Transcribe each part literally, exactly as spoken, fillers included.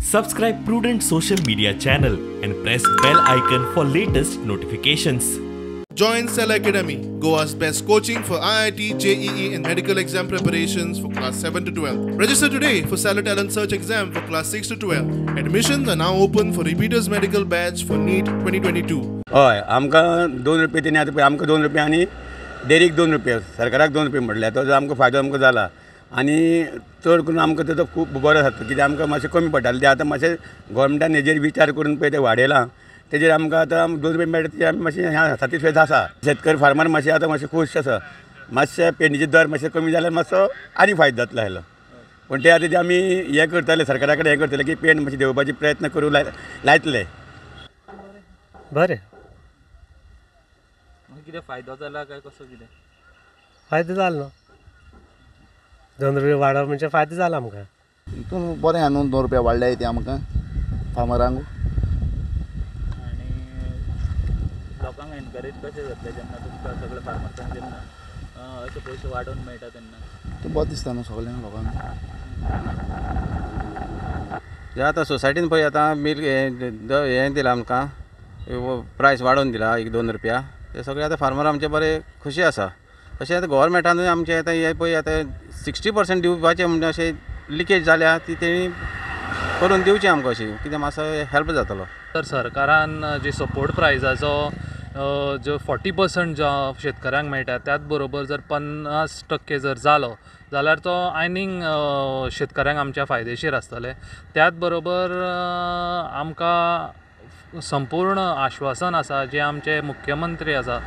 Subscribe Prudent Social Media channel and press bell icon for latest notifications. Join Cell Academy, Goa's best coaching for I I T, J E E and medical exam preparations for class seven to twelve. Register today for Stellar Talent Search exam for class six to twelve. Admissions are now open for repeaters medical batch for NEET twenty twenty-two. हय, आमकां दोन रुपये तेणी आतां पळय आमकां दोन रुपया आनी डेरीक दोन रुपया, सरकाराक दोन रुपया म्हटल्यार तो आमकां फायदो आमकां जाला आनी चड करून आमकां तेजो खूब बरो जाता कित्याक आमकां मातशें कमी पडटालें तें आतां मातशें गोवोरमेंटान हेजेर विचार करून पळय तें वाडयलां तेजेर आमकां आतां दोन रुपया मेळटा तेजेर आमी मातशें सॅटिस्फायड आसा. शेतकरी फार्मर मातशें आतां मातशें खूश आसा. मातशें पेडणेचे दर मातशें कमी जाल्यार मातसो आनी फायदो जातलो आसलो, पूण ते आतां आमी हें करतले सरकारा कडेन हें करतले की पेंट मातशें देंवोवपाचे प्रयत्न करूं लायतले. बरें, कितें फायदो जाला काय कसो कितें? फायदो जालो न्हू, दोन रुपया वाडप म्हणजे फायदो जाला आमकां. हितून बरें आहा न्हू, दोन रुपया वाडल्याय ते आमकां फार्मरांक. आनी लोकांक एनकरेज कशें जातलें जेन्ना तुमकां सगळे फार्मर्सांक जेन्ना अशे पयशे वाडोवन मेळटा तेन्ना? तें बरें दिसता न्हू सगळ्यांक लोकांक. जे आतां सोसायटीन पळय आतां मिल्क हें दिलां आमकां प्रायस वाडोवन दिला एक दोन रुपया, ते सगळे आतां फार्मर आमचे बरे खुशी आसा. तशें आतां गोवोरमेंटानूय आमचें आतां हें पळय आतां सिक्स्टी पर्संट दिवपाचें म्हणजे अशें लिकेज जाल्या ती तेणी करून दिवची आमकां अशी कित्याक मातसो हेल्प जातलो. तर सरकारान जी सपोर्ट प्रायजाचो जो फोर्टी पर्संट जो शेतकऱ्यांक मेळटा त्याच बरोबर जर पन्नास टक्के जर जालो जाल्यार तो आनीक शेतकऱ्यांक आमच्या फायदेशीर आसतलें. त्याच बरोबर आमकां संपूर्ण आश्वासन आसा जे आमचे मुख्यमंत्री आसा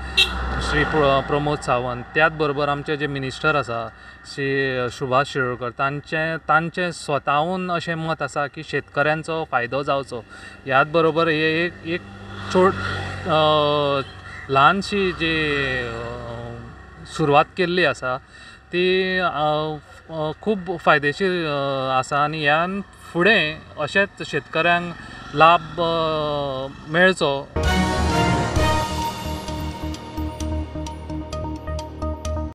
श्री प्रमोद सावंत, त्याच बरोबर आमचे जे मिनिस्टर आसा श्री सुभाष शिरोडकर, तांचें तांचें स्वताहून अशें मत आसा की शेतकऱ्यांचो फायदो जावचो. ह्याच बरोबर हे एक एक छोट ल्हानशी जी सुरवात केल्ली आसा ती खूब फायदेशीर आसा आनी ह्यान फुडें अशेंच शेतकऱ्यांक लाभ मेळचो.